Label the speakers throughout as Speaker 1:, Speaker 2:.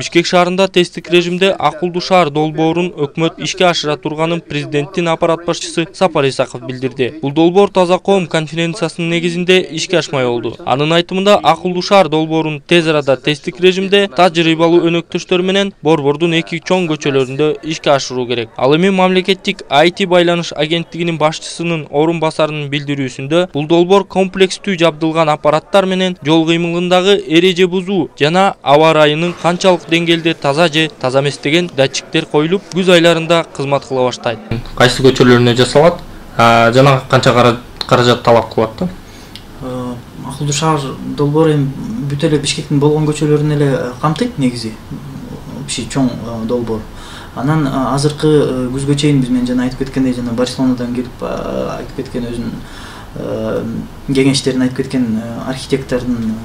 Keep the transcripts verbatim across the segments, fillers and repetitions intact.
Speaker 1: Бишкек шаарында тесттик режимде акылдуу шаар долбоорун өкмөт ишке ашыра турганын президенттин аппарат башчысы Сапар Исаков билдирди. Бул долбоор Таза коом конференциясынын негизинде ишке ашмай болду. Анын айтымында акылдуу шаар долбоорун тез арада тесттик режимде тажрыйбалуу өнөктөштөр менен Борбордун эки чоң көчөлөрүндө ишке ашыруу керек. Ал эми мамлекеттик ай ти байланыш агенттигинин башчысынын орун басарынын билдирүүсүндө бул долбоор комплекстүү жабдылган аппараттар менен жол кыймылындагы эреже бузуу жана аба ырайынын канчалык деңгээлде таза же таза эмес деген датчиктер коюлуп, күз айларында кызмат кыла баштайт. Кайсы көчөлөрүнө жасалат жана канча каражат талап кылат да?
Speaker 2: Акылдуу шаар долбоору бүт эле Бишкектин болгон көчөлөрүн эле камтыйт негизи. Общий чоң долбоор. Анан азыркы күзгө чейин биз менен жана айтып кеткендей, жана Барселонадан келип айтып кеткен өзүнүн кеңештерин айтып кеткен архитектордун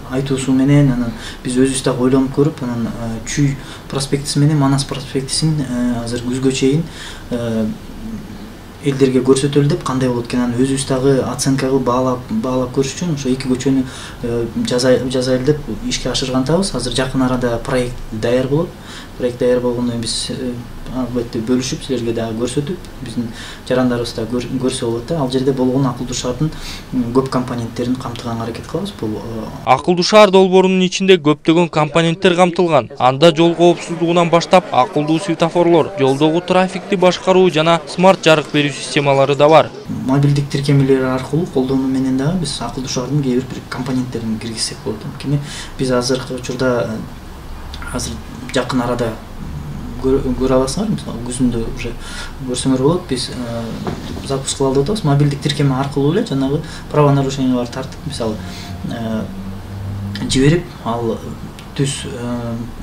Speaker 2: айтуусу менен анан биз өзүбүз дагы ойлонуп көрүп, анан Чүй проспектиси менен Манас проспектисин азыр күзгө чейин элдерге көрсөтөлү деп, кандай болот экенин өзүбүз дагы оценка кылып баалап баалап көрүш үчүн ошо эки көчөнү жазайлы деп ишке ашыргантабыз. Азыр жакын арада проект даяр болот. Проект даяр болгондон кийин биз албетте бөлүшүп силерге дагы көрсөтүп, биздин жарандарыбыз да көрсө болот да. Ал жерде болгон акылдуу шаардын көп компоненттерин камтыганга аракет кылабыз. Бул
Speaker 1: акылдуу шаар долбоорунун ичинде көптөгөн компоненттер камтылган. Анда жол коопсуздугунан баштап акылдуу светофорлор, жолдогу трафикти башкаруу жана смарт жарык берүү системалары да бар.
Speaker 2: Мобилдик тиркемелер аркылуу колдонуу менен дагы биз акылдуу шаардын кээ бир компоненттерин киргизсек болот. Анткени биз азыркы учурда азыр жакын арада көрө аласыңар, мисалы күзүндө уже көрсөңөр болот, биз запуск кылалы деп атабыз. Мобилдик тиркеме аркылуу эле жанагы правонарушенияларды тартып, мисалы жиберип, ал түз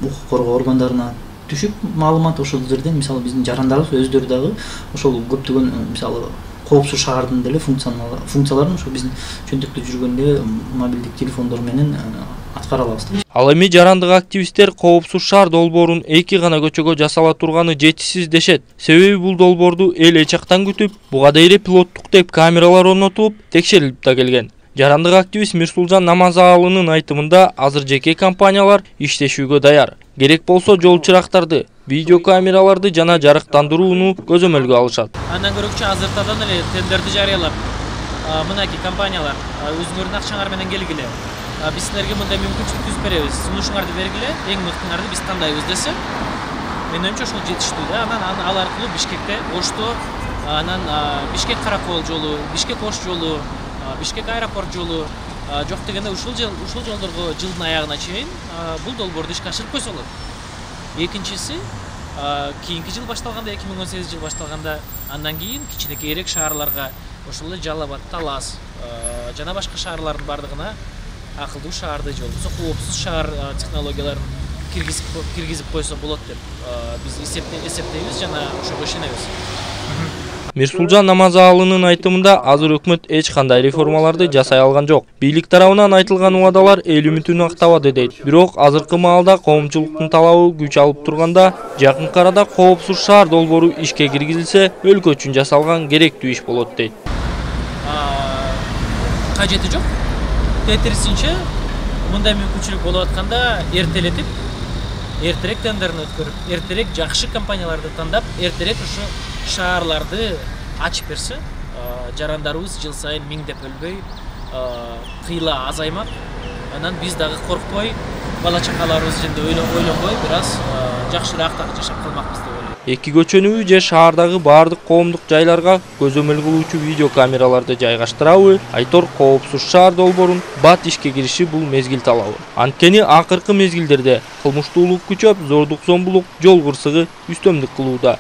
Speaker 2: укук коргоо органдарына түшүп, маалымат ошол жерден мисалы биздин жарандарыбыз өздөрү дагы ошол көптөгөн мисалы коопсуз шаардын деле функцияларын ошо биздин чөнтөктө жүргөндө мобилдик телефондор менен аткара алабыз.
Speaker 1: Ал эми жарандык активисттер коопсуз шаар долбоорун эки гана көчөгө жасала турганы жетишсиз дешет. Себеби бул долбоорду эл эч жактан күтүп, буга дейре пилоттук деп камералар орнотулуп, текшерилип да келген. Жарандык активист Мирсулжан Намазаалынын айтымында азыр жеке компаниялар иштешүүгө даяр. Керек болсо жол чырактарды, видео камераларды жана жарыктандырууну көзөмөлгө алышат.
Speaker 3: Андан көрөкчү азыртадан эле тендерди жарыялап, мынакей компаниялар өзүңөрдүн акчаңар менен келгиле. Биз силерге мындай мүмкүнчүлүк түзүп беребиз. Сунушуңарды бергиле, эң мыктыңарды биз тандайбыз десе, менин оюмча ошол жетиштүү да. Анан ал аркылуу Бишкекте Ошто, анан Бишкек Каракол жолу, Бишкек Ош жолу, Бишкек аэропорт жолу жок дегенде ушул ушул жолдорго жылдын аягына чейин бул долбоорду ишке ашырып койсо болот. Экинчиси, кийинки жыл башталганда, эки миң он сегизинчи жыл башталганда, андан кийин кичинекейирээк шаарларга, ошол эле Жалал Абад, Талас жана башка шаарлардын бардыгына акылдуу шаарды же болбосо коопсуз шаар технологияларын киргизип койсо болот деп биз эсептейбиз жана ошого ишенебиз.
Speaker 1: Мирсулжан Намазаалынын айтымында азыр өкмөт эч кандай реформаларды жасай алган жок. Бийлик тарабынан айтылган убадалар эл үмүтүн актабады дейт. Бирок азыркы маалда коомчулуктун талабы күч алып турганда, жакынкы арада коопсуз шаар долбоору ишке киргизилсе, өлкө үчүн жасалган керектүү иш болот дейт.
Speaker 3: Кажети жок. Тетирисинче мындай мүмкүнчүлүк болуп атканда эртелетип, эртерээк тендерин өткөрүп, эртерээк жакшы компанияларды тандап, эртерээк ушу шаарларды ачып берсе, жарандарыбыз жыл сайын миңдеп өлбөй, кыйла азаймак. Анан биз дагы коркпой, бала чакаларыбыз жөнүндө ойлонбой, бир аз жакшыраак жашап калмакпыз деп ойлойм.
Speaker 1: Эки көчөнүбү же шаардагы баардык коомдук жайларга көзөмөл кылуучу видео камераларды жайгаштырабы? Айтор коопсуз шаар долбоорун бат ишке кириши бул мезгил талабы. Анткени акыркы мезгилдерде кылмыштуулук күчөп, зордук зомбулук, жол кырсыгы үстөмдүк кылууда.